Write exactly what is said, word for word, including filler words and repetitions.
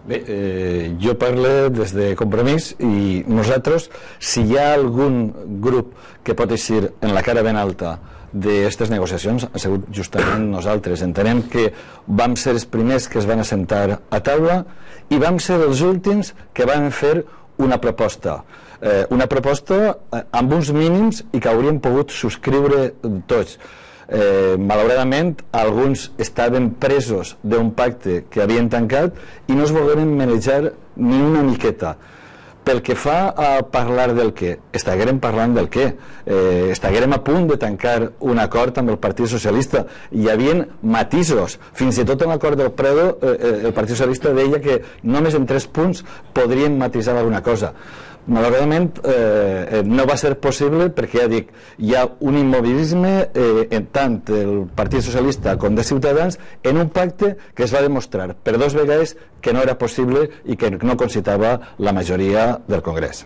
Bé, eh, jo parlo des de Compromís i nosaltres, si hi ha algun grup que pot eixir en la cara ben alta d'aquestes negociacions, ha sigut justament nosaltres. Entenem que vam ser els primers que es van assentar a taula i vam ser els últims que van fer una proposta. Eh, una proposta eh, amb uns mínims i que hauríem pogut subscriure tots. Eh, malauradament alguns estaven presos d'un pacte que havien tancat i no es volgueren manejar ni una miqueta. Pel que fa a parlar del què, estiguérem parlant del què, eh, estiguérem a punt de tancar un acord amb el Partit Socialista. Hi havia matisos, fins i tot en l'acord del Predo eh, el Partit Socialista deia que només en tres punts podrien matisar alguna cosa. Malauradament eh, no va ser possible perquè, ja dic, hi ha un immobilisme eh, en tant el Partit Socialista com de Ciutadans en un pacte que es va demostrar per dos vegades que no era possible i que no concitava la majoria del Congrés.